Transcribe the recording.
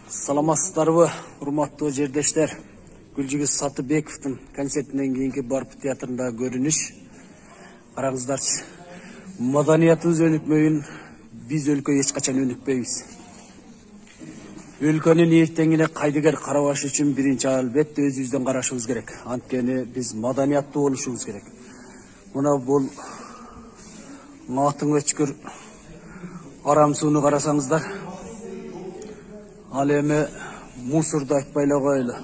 Саламатсыздарбы, урматтуу жердештер. Гүлжигиз Сатыбековдун концертинен кийинки Барп театрында көрүнүш. Караңыздарчы. Маданиятыбыз өнүкмөйүн биз өлкө эч качан өнүкпөйбүз. Өлкөнүн эртеңине кайдыгер карабаш үчүн биринчи албетте өзүбүздөн карашыбыз керек. Анткени биз маданияттуу болушубуз керек. Мына бул атын өчкүр арам сууну карасаңыздар, ал эми мусорду айтпай эле коелу.